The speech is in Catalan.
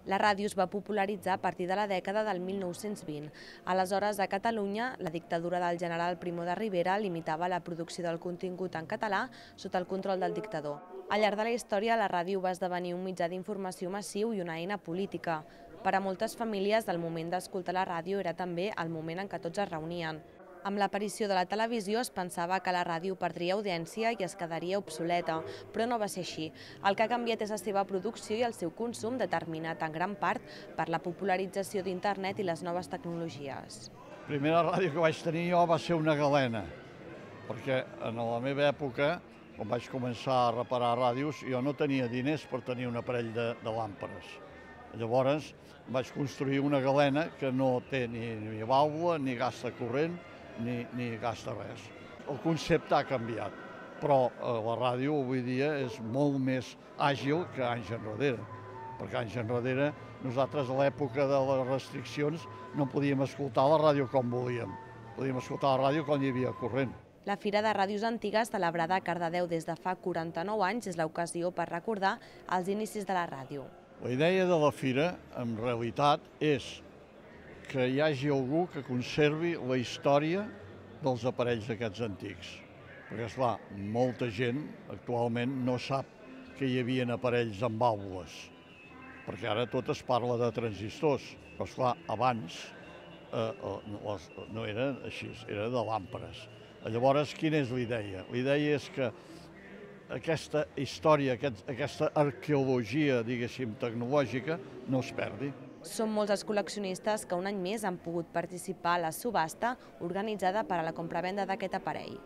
La ràdio es va popularitzar a partir de la dècada del 1920. Aleshores, a Catalunya, la dictadura del general Primo de Rivera limitava la producció del contingut en català sota el control del dictador. Al llarg de la història, la ràdio va esdevenir un mitjà d'informació massiu i una eina política. Per a moltes famílies, el moment d'escoltar la ràdio era també el moment en què tots es reunien. Amb l'aparició de la televisió es pensava que la ràdio perdria audiència i es quedaria obsoleta, però no va ser així. El que ha canviat és la seva producció i el seu consum, determinat en gran part per la popularització d'internet i les noves tecnologies. La primera ràdio que vaig tenir jo va ser una galena, perquè en la meva època, quan vaig començar a reparar ràdios, jo no tenia diners per tenir un aparell de làmperes. Llavors vaig construir una galena que no té ni vàlvula, ni gasta corrent, ni gasta res. El concepte ha canviat, però la ràdio avui dia és molt més àgil que anys enrere, perquè anys enrere nosaltres a l'època de les restriccions no podíem escoltar la ràdio com volíem, podíem escoltar la ràdio quan hi havia corrent. La Fira de Ràdios Antigues, celebrada a Cardedeu des de fa 49 anys, és l'ocasió per recordar els inicis de la ràdio. La idea de la fira, en realitat, és que hi hagi algú que conservi la història dels aparells aquests antics. Perquè, esclar, molta gent actualment no sap que hi havia aparells amb vàlvules, perquè ara tot es parla de transistors, però, esclar, abans no era així, era de làmperes. Llavors, quina és la idea? La idea és que aquesta història, aquesta arqueologia, diguéssim, tecnològica, no es perdi. Són molts els col·leccionistes que un any més han pogut participar a la subhasta organitzada per a la compravenda d'aquest aparell.